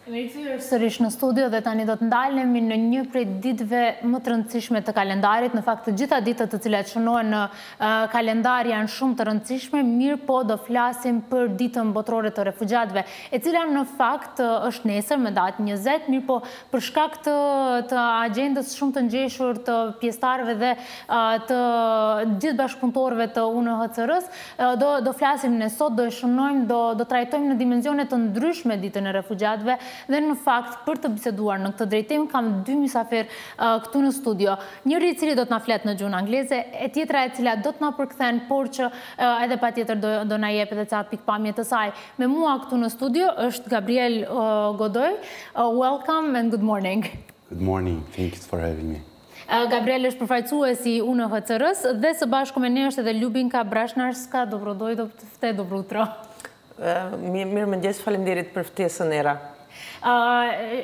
Sërish në studio dhe tani do të ndalemi në një prej ditëve më të rëndësishme të kalendarit. Në fakt, të gjitha ditët të cilat shënohen në kalendar janë shumë të rëndësishme, mirë po do flasim për ditën botërore të refugjatëve, e cila në fakt është nesër me datë 20, mirë po për shkak të agjendës shumë të ngjeshur të pjesëtarëve dhe të gjithë bashkëpunëtorëve të UNHCR-s, do flasim ne sot, do e shënojmë, do trajtojmë në dimensione të ndryshme ditën e refugjatëve. Dhe në fakt, për të biseduar në këtë drejtim, kam dy mysafir këtu në studio. Njëri i cili do të na flet në gjuhën angleze, e tjetra e cila do të na përkthen, por që edhe patjetër do na jep edhe ca pikpamje të saj. Me mua këtu në studio është Gabriel Godoy. Welcome and good morning. Good morning. Thanks for having me. Gabriel është përfaqësuesi i UNHCR-s dhe së bashku me ne është edhe Ljubinka Brashnarska. Dobro utro. Mirëmëngjes, faleminderit për ftesën era.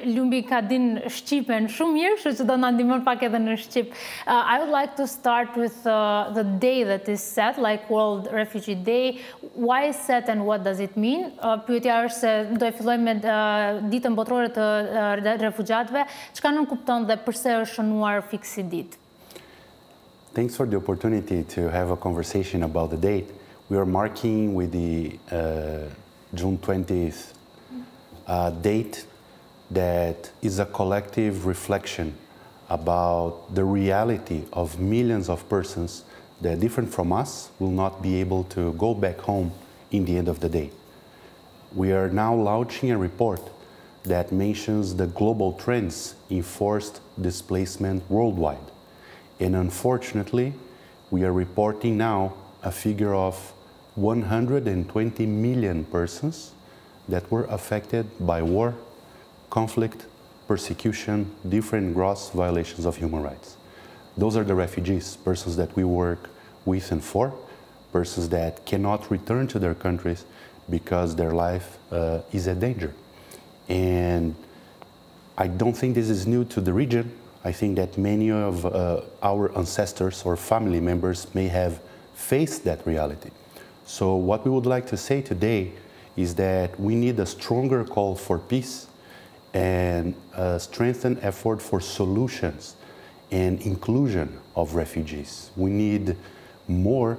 Ljubinka din Shqipen shumë mirë, kështu që do na ndihmon pak edhe në Shqip. I would like to start with the day that is set, like World Refugee Day. Why is set and what does it mean? Pyetja është se do e fillojmë me ditën botërore të refugjatëve. Çka nënkupton dhe pse është shënuar fiksi ditë? Thanks for the opportunity to have a conversation about the date. We are marking with the June 20th date that is a collective reflection about the reality of millions of persons that, different from us, will not be able to go back home in the end of the day. We are now launching a report that mentions the global trends in forced displacement worldwide. And unfortunately, we are reporting now a figure of 120 million persons that were affected by war, conflict, persecution, different gross violations of human rights. Those are the refugees, persons that we work with and for, persons that cannot return to their countries because their life is at danger. And I don't think this is new to the region. I think that many of our ancestors or family members may have faced that reality. So what we would like to say today is that we need a stronger call for peace and a strengthened effort for solutions and inclusion of refugees. We need more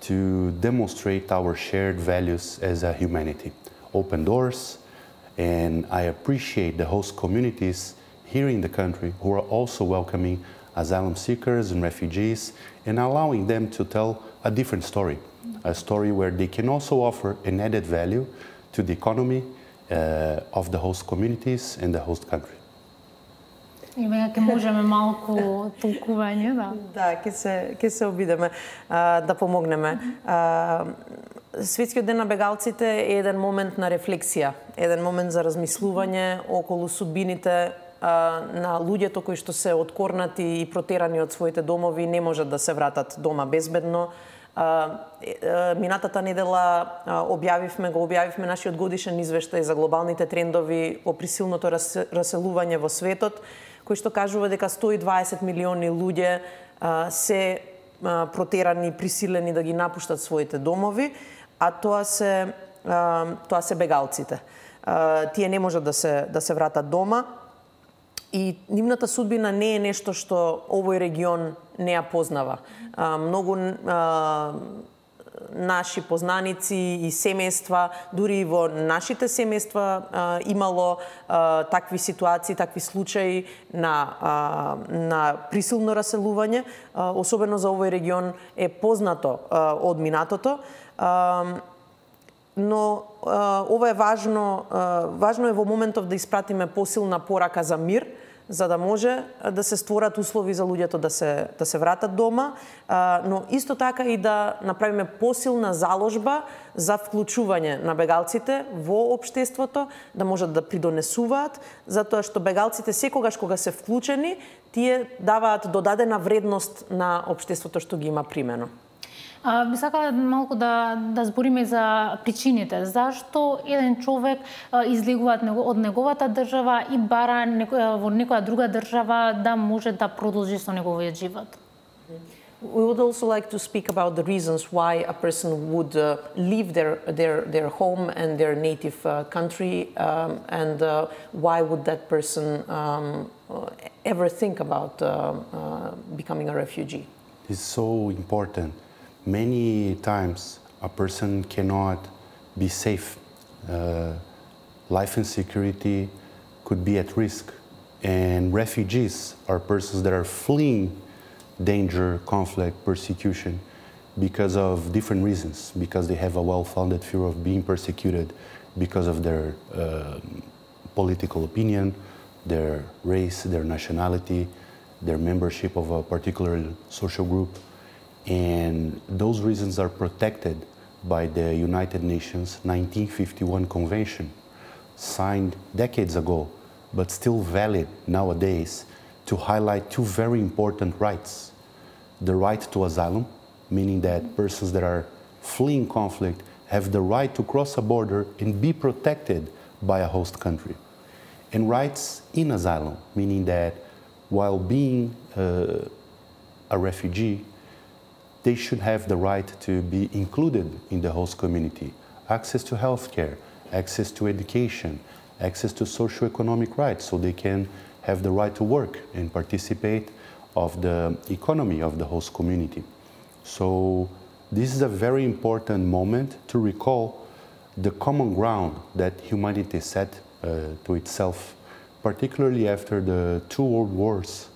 to demonstrate our shared values as a humanity. Open doors, and I appreciate the host communities here in the country who are also welcoming asylum seekers and refugees and allowing them to tell a different story. A story where they can also offer an added value to the economy of the host communities and the host country. Ќе можеме малку толкување, да. Да, ќе се обидеме да помогнеме. Светскиот ден на бегалците е еден момент на рефлексија, еден момент за размислување околу судбините на луѓето кои што се откорнати и протерани од своите домови, не можат да се вратат дома безбедно. Минатата недела објавивме нашиот годишен извештај за глобалните трендови во присилното раселување во светот, кој што кажува дека 120 милиони луѓе се протерани, присилени да ги напуштат своите домови, а тоа се бегалците. Тие не можат да се вратат дома и нивната судбина не е нешто што овој регион не ја познава. Многу наши познаници и семејства, дури и во нашите семејства имало такви ситуации, такви случаи на присилно раселување, особено за овој регион е познато од минатото. Но ова е важно е во моментов да испратиме посилна порака за мир, за да може да се створат услови за луѓето да се вратат дома, но исто така и да направиме посилна заложба за вклучување на бегалците во општеството, да можат да придонесуваат, затоа што бегалците секогаш кога се вклучени, тие даваат додадена вредност на општеството што ги има примено. Би сакала малку да збориме за причините. Зашто еден човек излегува од неговата држава и бара во некоја друга држава да може да продолжи со неговиот живот? We would also like to speak about the reasons why a person would leave their home and their native country, and why would that person ever think about becoming a refugee. It's so important. Many times a person cannot be safe. Life and security could be at risk. And refugees are persons that are fleeing danger, conflict, persecution because of different reasons, because they have a well-founded fear of being persecuted because of their political opinion, their race, their nationality, their membership of a particular social group. And those reasons are protected by the United Nations 1951 Convention, signed decades ago, but still valid nowadays, to highlight two very important rights. The right to asylum, meaning that persons that are fleeing conflict have the right to cross a border and be protected by a host country. And rights in asylum, meaning that while being a refugee, they should have the right to be included in the host community. Access to healthcare, access to education, access to socioeconomic rights, so they can have the right to work and participate of the economy of the host community. So this is a very important moment to recall the common ground that humanity set to itself, particularly after the two world wars,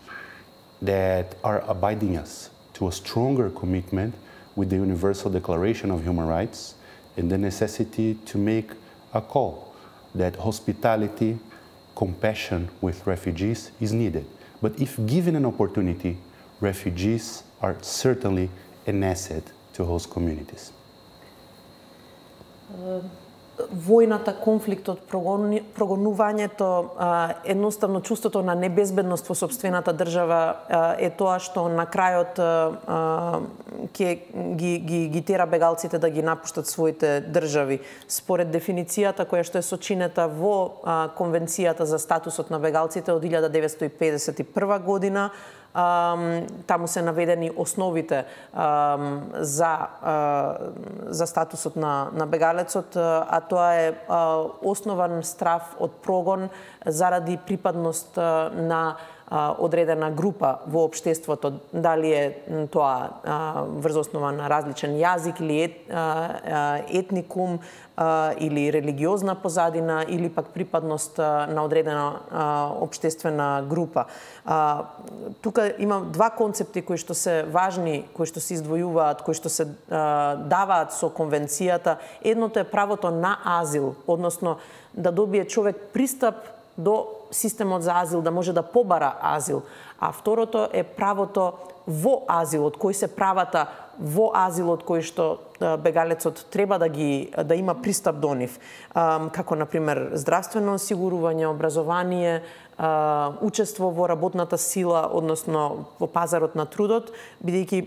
that are abiding us to a stronger commitment with the Universal Declaration of Human Rights and the necessity to make a call that hospitality, compassion with refugees is needed. But if given an opportunity, refugees are certainly an asset to host communities. Војната, конфликтот, прогонувањето, едноставно чувството на небезбедност во сопствената држава е тоа што на крајот ги тера бегалците да ги напуштат своите држави. Според дефиницијата која што е сочинета во Конвенцијата за статусот на бегалците од 1951 година, таму се наведени основите за статусот на бегалецот, а тоа е основан страф од прогон заради припадност на одредена група во општеството, дали е тоа врз основа на различен јазик или етникум или религиозна позадина или пак припадност на одредена општествена група. Тука има два концепти кои што се важни, кои што се издвојуваат, кои што се даваат со конвенцијата. Едното е правото на азил, односно да добие човек пристап до системот за азил, да може да побара азил. А второто е правото во азилот, кои се правата во азилот кои што бегалецот треба да има пристап до нив, како например здравствено осигурување, образование, учество во работната сила, односно во пазарот на трудот, бидејќи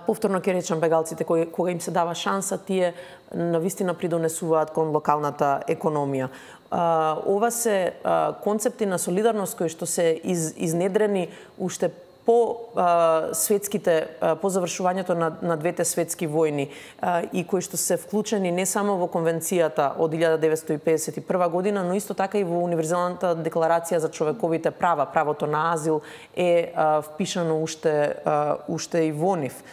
повторно ќе речам, бегалците кога им се дава шанса, тие навистина придонесуваат кон локалната економија. Ова се концепти на солидарност кои што се изнедрени уште по завршувањето на двете светски војни и кои што се вклучени не само во Конвенцијата од 1951 година, но исто така и во Универзалната декларација за човековите права. Правото на азил е впишано уште и во нив.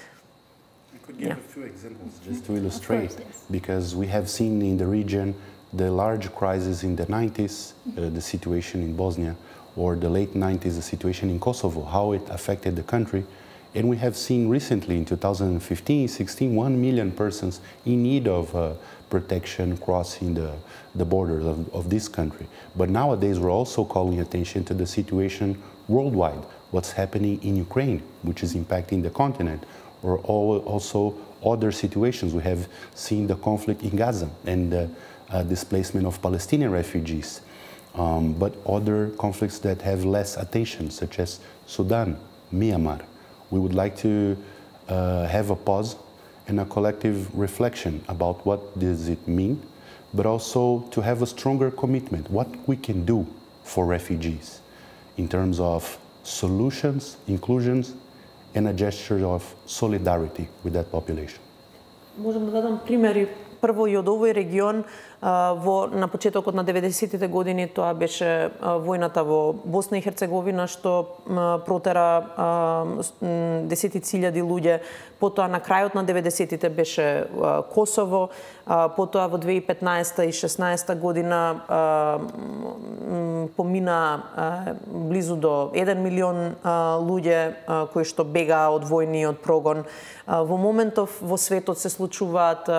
I could give a few examples just to illustrate, because we have seen in the region the large crisis in the 90s, the situation in Bosnia, or the late 90s, the situation in Kosovo, how it affected the country. And we have seen recently in 2015-16, 1 million persons in need of protection crossing the borders of this country. But nowadays we're also calling attention to the situation worldwide, what's happening in Ukraine, which is impacting the continent, or also other situations. We have seen the conflict in Gaza and the displacement of Palestinian refugees. But other conflicts that have less attention, such as Sudan, Myanmar. We would like to have a pause and a collective reflection about what does it mean, but also to have a stronger commitment, what we can do for refugees in terms of solutions, inclusions, and a gesture of solidarity with that population. Можам да дадам примери. Прво и од овој регион, на почетокот на 90-тите години, тоа беше војната во Босна и Херцеговина, што протера десетици илјади луѓе. Потоа на крајот на 90-тите беше Косово, потоа во 2015 и 16 година помина близу до 1 милион луѓе кои што бегаа од војни и од прогон. Во моментов во светот се случуваат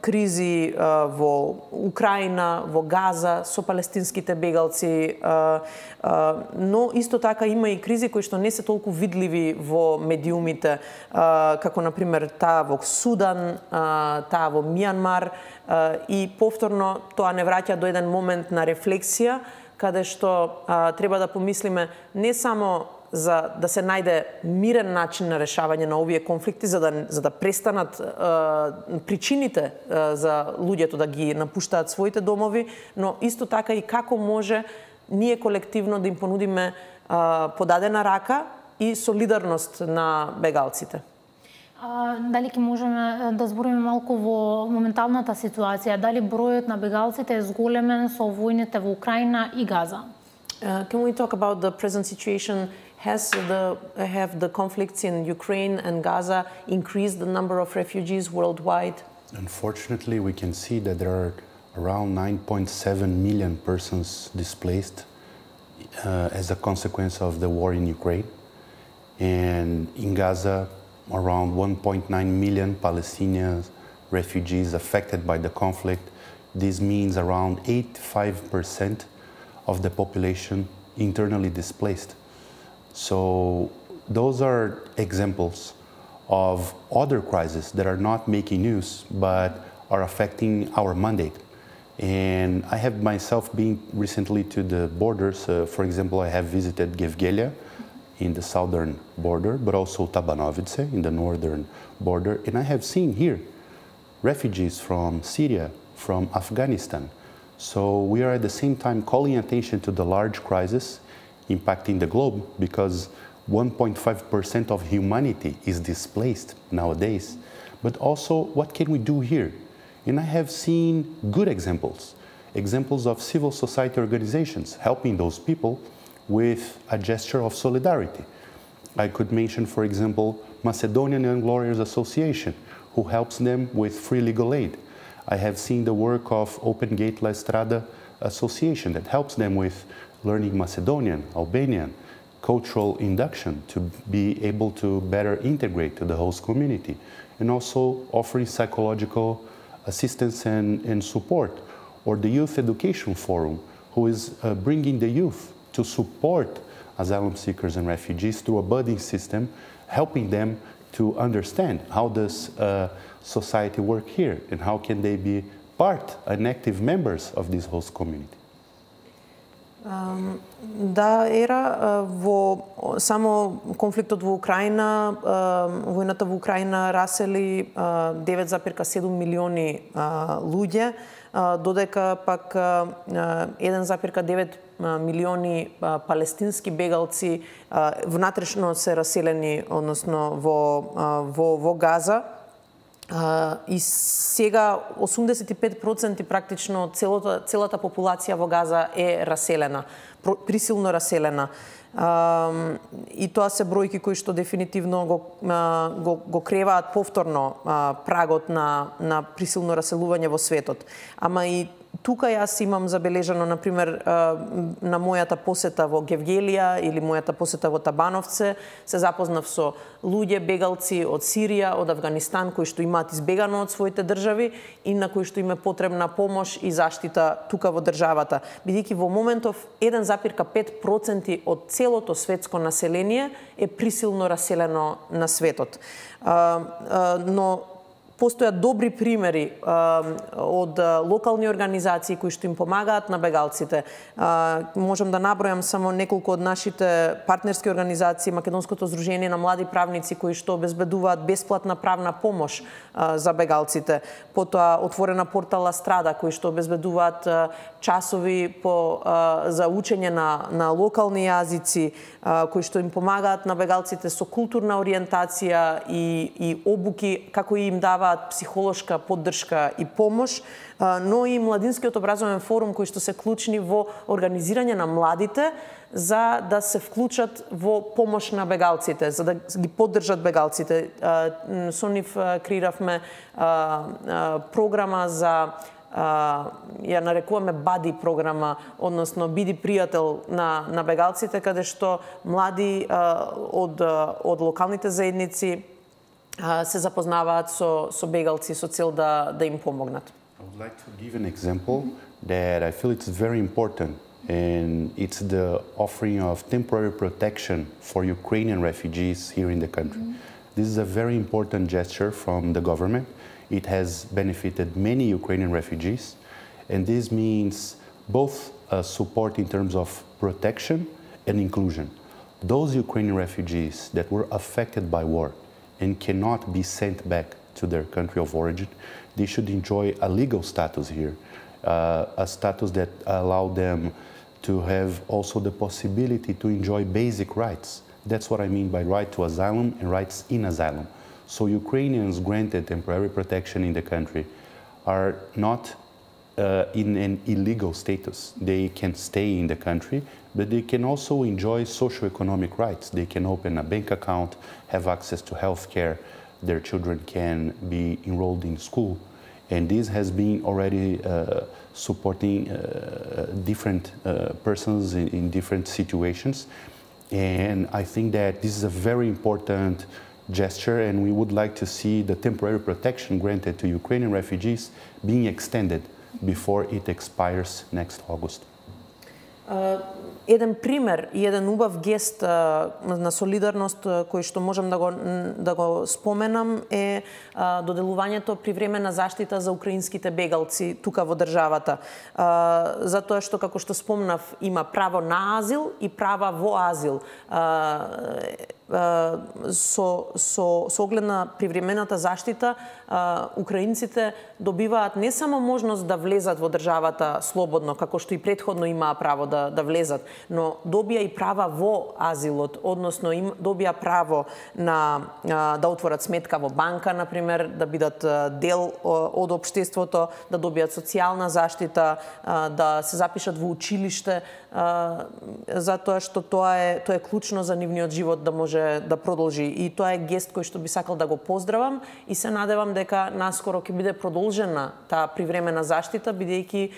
кризи во Украина, во Газа со палестинските бегалци, но исто така има и кризи кои што не се толку видливи во медиумите, како на пример таа во Судан, таа во Мијанмар, и повторно тоа не враќа до еден момент на рефлексија каде што треба да помислиме не само за да се најде мирен начин на решавање на овие конфликти, за да престанат причините за луѓето да ги напуштаат своите домови, но исто така и како може ние колективно да им понудиме подадена рака и солидарност на бегалците. Дали ќе можеме да збориме малку во моменталната ситуација? Дали бројот на бегалците е зголемен со војните во Украина и Газа? Can we talk about the present situation? Have the conflicts in Ukraine and Gaza increased the number of refugees worldwide? Unfortunately, we can see that there are around 9.7 million persons displaced as a consequence of the war in Ukraine. And in Gaza, around 1.9 million Palestinian refugees affected by the conflict. This means around 85% of the population internally displaced. So those are examples of other crises that are not making news, but are affecting our mandate. And I have myself been recently to the borders. For example, I have visited Gevgelia in the southern border, but also Tabanovice in the northern border. And I have seen here refugees from Syria, from Afghanistan. So we are at the same time calling attention to the large crisis impacting the globe, because 1.5% of humanity is displaced nowadays. But also, what can we do here? And I have seen good examples of civil society organizations helping those people with a gesture of solidarity. I could mention, for example, Macedonian Young Lawyers Association, who helps them with free legal aid. I have seen the work of Open Gate La Estrada Association that helps them with learning Macedonian, Albanian, cultural induction to be able to better integrate to the host community, and also offering psychological assistance and support. Or the Youth Education Forum, who is bringing the youth to support asylum seekers and refugees through a budding system, helping them to understand how does society work here and how can they be part and active members of this host community. Да, во само конфликтот во Украина, војната во Украина расели 9,7 милиони луѓе, додека пак 1,9 милиони палестински бегалци внатрешно се раселени, односно во Газа. И сега 85% практично целата популација во Газа е раселена, присилно раселена. И тоа се бројки кои што дефинитивно го креваат повторно прагот на присилно раселување во светот. Ама и тука јас имам забележано, например, на мојата посета во Гевгелија или мојата посета во Табановце, се запознав со луѓе, бегалци од Сирија, од Авганистан, кои што имаат избегано од своите држави и на кои што им е потребна помош и заштита тука во државата. Бидејќи во моментов 1,5% од целото светско население е присилно раселено на светот. Но Постојат добри примери од локални организации кои што им помагаат на бегалците. Можам да набројам само неколку од нашите партнерски организации, Македонското здружение на млади правници кои што обезбедуваат бесплатна правна помош за бегалците. Потоа отворена портала Страда кои што обезбедуваат часови за учење на локални јазици, кои што им помагаат на бегалците со културна ориентација и обуки, како и им даваат психолошка поддршка и помош, но и Младинскиот образовен форум кои што се клучни во организирање на младите за да се вклучат во помош на бегалците, за да ги поддржат бегалците. Со нив креиравме програма за ја нарекуваме бади програма, односно биди пријател на бегалците, каде што млади од локалните заедници се запознаваат со бегалци со цел да им помогнат. I would like to give an example that I feel it's very important, and it's the offering of temporary protection for Ukrainian refugees here in the country. This is a very important gesture from the government. It has benefited many Ukrainian refugees, and this means both support in terms of protection and inclusion. Those Ukrainian refugees that were affected by war and cannot be sent back to their country of origin, they should enjoy a legal status here, a status that allow them to have also the possibility to enjoy basic rights. That's what I mean by right to asylum and rights in asylum. So Ukrainians granted temporary protection in the country are not in an illegal status. They can stay in the country, but they can also enjoy socioeconomic rights. They can open a bank account, have access to health care, their children can be enrolled in school. And this has been already supporting different persons in different situations. And I think that this is a very important gesture, and we would like to see the temporary protection granted to Ukrainian refugees being extended before it expires next August. Еден пример и еден убав гест на солидарност кој што можам да го споменам е доделувањето привремена заштита за украинските бегалци тука во државата. Затоа што, како што спомнав, има право на азил и права во азил. Со оглед на привремената заштита, украинците добиваат не само можност да влезат во државата слободно, како што и претходно имаа право да влезат, но добија и права во азилот, односно добија право да отворат сметка во банка, например, да бидат дел од општеството, да добијат социјална заштита, да се запишат во училиште, затоа што тоа е клучно за нивниот живот да може да продолжи. И тоа е гест кој што би сакал да го поздравам и се надевам дека наскоро ќе биде продолжена таа привремена заштита, бидејќи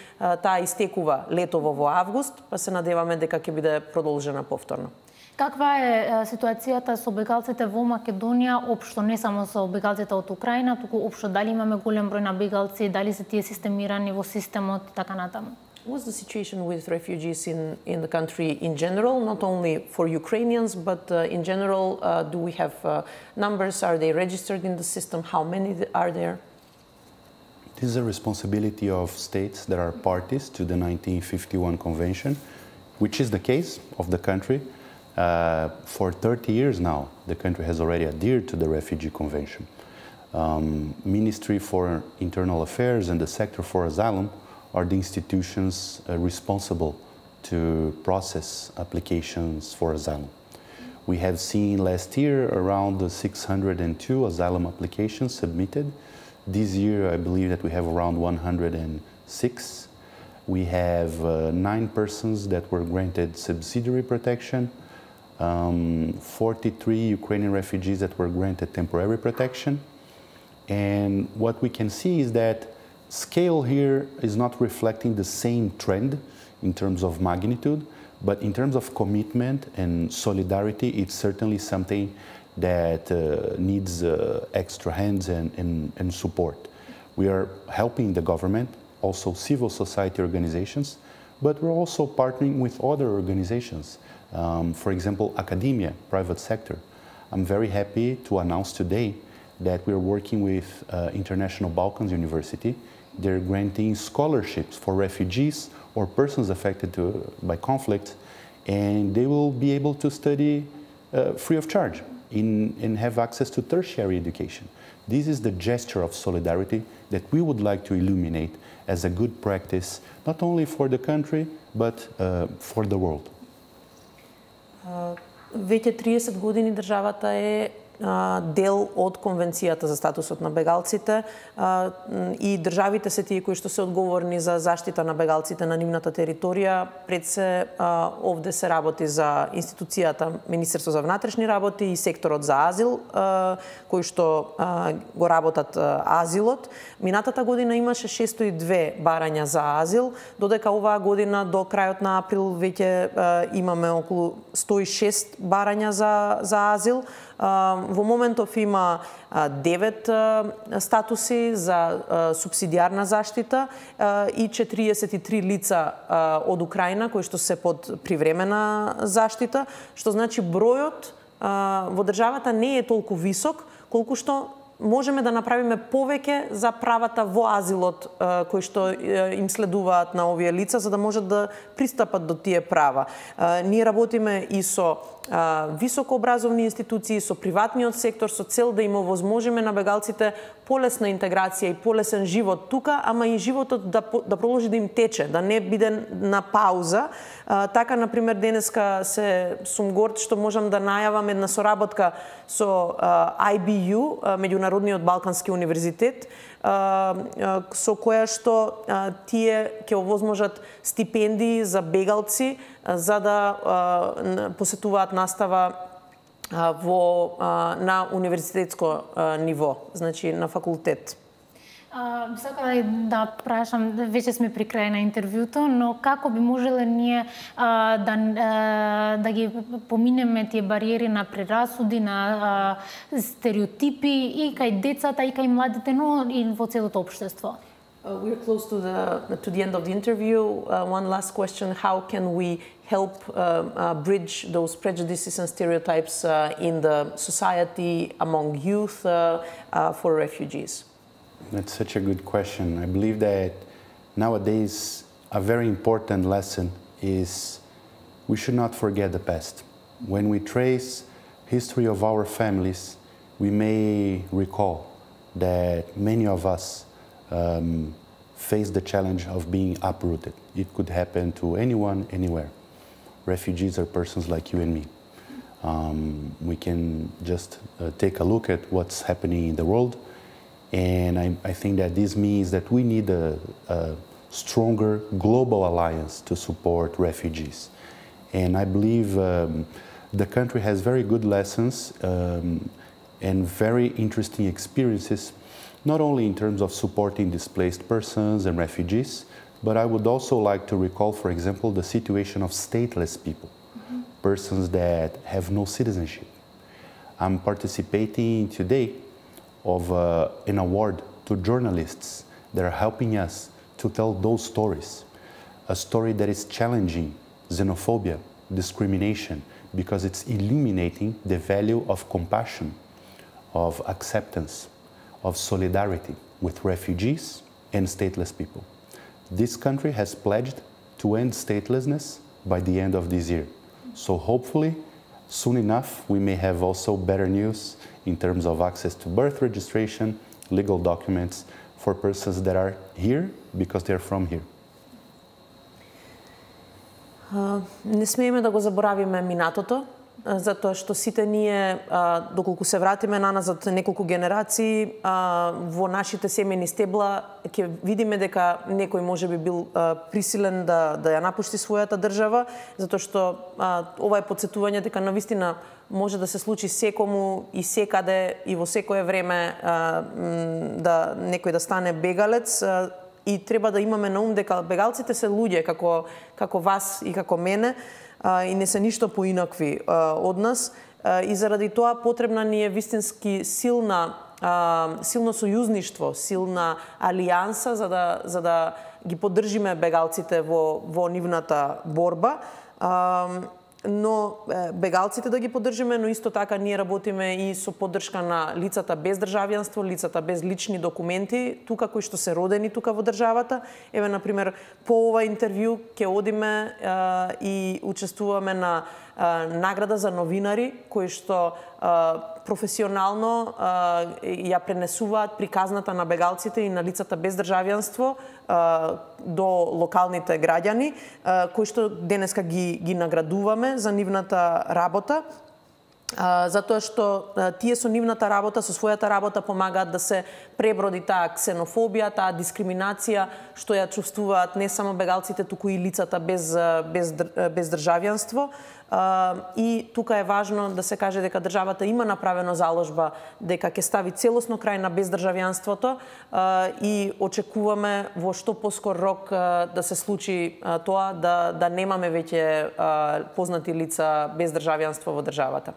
таа истекува летово во август, па се надеваме дека ќе биде продолжена повторно. Каква е ситуацијата со бегалците во Македонија, општо, не само со бегалците од Украина, туку општо, дали имаме голем број на бегалци, дали се тие системирани во системот и така натаму? What's the situation with refugees in the country in general, not only for Ukrainians, but in general, do we have numbers? Are they registered in the system? How many are there? This is a responsibility of states that are parties to the 1951 Convention, which is the case of the country. For 30 years now, the country has already adhered to the Refugee Convention. Ministry for Internal Affairs and the Sector for Asylum are the institutions responsible to process applications for asylum. We have seen last year around 602 asylum applications submitted. This year, I believe that we have around 106. We have 9 persons that were granted subsidiary protection, 43 Ukrainian refugees that were granted temporary protection. And what we can see is that scale here is not reflecting the same trend in terms of magnitude, but in terms of commitment and solidarity, it's certainly something that needs extra hands and support. We are helping the government, also civil society organizations, but we're also partnering with other organizations. For example, academia, private sector. I'm very happy to announce today that we're working with International Balkans University. They're granting scholarships for refugees or persons affected by conflict, and they will be able to study free of charge and have access to tertiary education. This is the gesture of solidarity that we would like to illuminate as a good practice, not only for the country, but for the world. Веќе 30 години државата е дел од Конвенцијата за статусот на бегалците и државите се тие кои што се одговорни за заштита на бегалците на нивната територија. Пред се овде се работи за институцијата Министерство за внатрешни работи и секторот за азил, кои што го работат азилот. Минатата година имаше 602 барања за азил, додека оваа година до крајот на април веќе имаме околу 106 барања за азил. Во моментов има 9 статуси за субсидијарна заштита и 43 лица од Украина кои што се под привремена заштита, што значи бројот во државата не е толку висок колку што можеме да направиме повеќе за правата во азилот кои што им следуваат на овие лица за да можат да пристапат до тие права. Ние работиме и со високообразовни институции, со приватниот сектор, со цел да им овозможиме на бегалците полесна интеграција и полесен живот тука, ама и животот да продолжи да им тече, да не биде на пауза. Така, например, денеска сум горд што можам да најавам една соработка со IBU, Меѓународниот Балкански универзитет, со која што тие ќе овозможат стипендии за бегалци за да посетуваат настава на универзитетско ниво, значи на факултет. Сакам да прашам, веќе сме при крај на интервјуто, но како би можеле ние да ги поминеме тие бариери на прерасуди, на стереотипи и кај децата, и кај младите, но и во целото општество? We're close to the end of the interview. One last question: how can we help bridge those prejudices and stereotypes in the society among youth for refugees? That's such a good question. I believe that nowadays a very important lesson is we should not forget the past. When we trace history of our families, we may recall that many of us face the challenge of being uprooted. It could happen to anyone, anywhere. Refugees are persons like you and me. We can just take a look at what's happening in the world, and I think that this means that we need a stronger global alliance to support refugees. And I believe the country has very good lessons and very interesting experiences, not only in terms of supporting displaced persons and refugees, but I would also like to recall, for example, the situation of stateless people, persons that have no citizenship. I'm participating today of an award to journalists that are helping us to tell those stories. A story that is challenging xenophobia, discrimination, because it's illuminating the value of compassion, of acceptance, of solidarity with refugees and stateless people. This country has pledged to end statelessness by the end of this year. So hopefully, soon enough, we may have also better news in terms of access to birth registration, legal documents for persons that are here because they're from here. Не смееме да го заборавиме минатото, затоа што сите ние, доколку се вратиме наназад неколку генерации, во нашите семејни стебла ќе видиме дека некој може би бил присилен да ја напушти својата држава, затоа што ова е потсетување дека навистина може да се случи секому и секаде и во секое време да некој да стане бегалец. И треба да имаме на ум дека бегалците се луѓе како вас и како мене и не се ништо поинакви од нас. И заради тоа потребна ни е вистински силно сојузништво, силна алијанса за да ги поддржиме бегалците во нивната борба. но бегалците да ги поддржиме, но исто така ние работиме и со поддршка на лицата без државјанство, лицата без лични документи, тука кои што се родени тука во државата. Еве, например, по ова интервју ќе одиме и учествуваме на награда за новинари кои што професионално ја пренесуваат приказната на бегалците и на лицата без државјанство до локалните граѓани, кои што денеска ги наградуваме за нивната работа, затоа што тие со нивната работа, со својата работа помагаат да се преброди таа ксенофобија, таа дискриминација што ја чувствуваат не само бегалците, туку и лицата без државјанство. И тука е важно да се каже дека државата има направено заложба дека ќе стави целосно крај на бездржавјанството и очекуваме во што поскор рок да се случи тоа, да немаме веќе познати лица без државјанство во државата.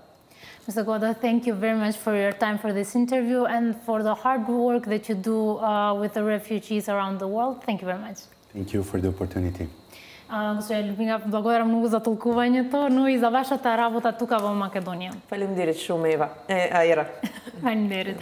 Mr. Goda, thank you very much for your time for this interview and for the hard work that you do with the refugees around the world. Thank you very much. Thank you for the opportunity. Госпожа Людмила, благодарам многу за толкувањето, но и за вашата работа тука во Македонија. Фалемдерит, Шумева. Ера. Фалемдерит.